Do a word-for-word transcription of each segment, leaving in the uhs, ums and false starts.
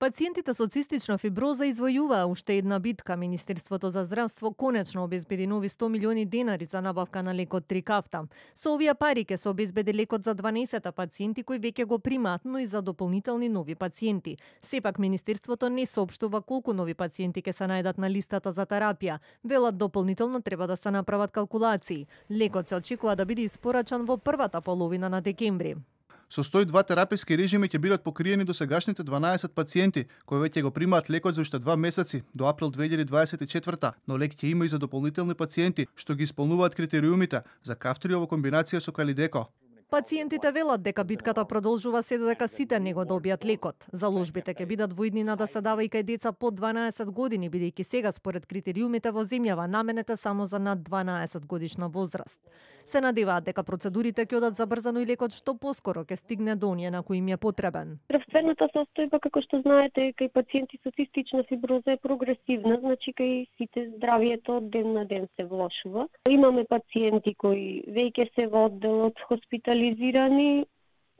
Пациентите со цистична фиброза извојуваа уште една битка. Министерството за здравство конечно обезбеди нови сто милиони денари за набавка на лекот Трикафта. Со овие пари ќе се обезбеди лекот за дванаесет пациенти кои веќе го примаат, но и за дополнителни нови пациенти. Сепак Министерството не соопштува колку нови пациенти ќе се најдат на листата за терапија. Велат дополнително треба да се направат калкулации. Лекот се очекува да биде испорачан во првата половина на декември. Со сто и два тераписки режими ќе бидат покриени до сегашните дванаесет пациенти кои веќе го примаат лекот за уште два месеци до април две илјади дваесет и четврта, но лек ќе има и за дополнителни пациенти што ги исполнуваат критериумите за Кафтрио во комбинација со Калидеко. Пациентите велат дека битката продолжува се додека сите не го добијат лекот. Заложбите ќе бидат во иднина да се дава и кај деца под дванаесет години, бидејќи сега според критериумите во земјава наменете само за над дванаесет годишна возраст. Се надеваат дека процедурите ќе одат забрзано и лекот што поскоро ќе стигне до оние на кои им е потребен. Здравствената состојба, како што знаете, кај пациенти со цистична фиброза е прогресивна, значи кај сите здравието од ден на ден се влошува. Имаме пациенти кои веќе се во одделот хоспитализирани,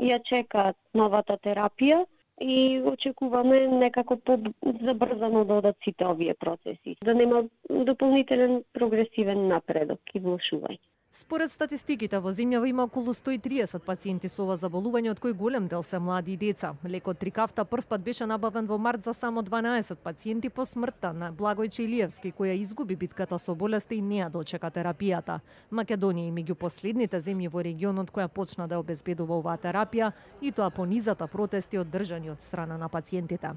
ја чекаат новата терапија и очекуваме некако по-забрзано да одат сите овие процеси, да нема дополнителен прогресивен напредок и влошување. Според статистиките во земјава има околу сто и триесет пациенти со ова заболување, од кои голем дел се млади и деца. Лекот Трикафта првпат беше набавен во март за само дванаесет пациенти по смртта на Благој Чилиевски, која изгуби битката со болеста и не ја дочека терапијата. Македонија е меѓу последните земји во регионот која почна да обезбедува оваа терапија, и тоа по низата протести оддржани од страна на пациентите.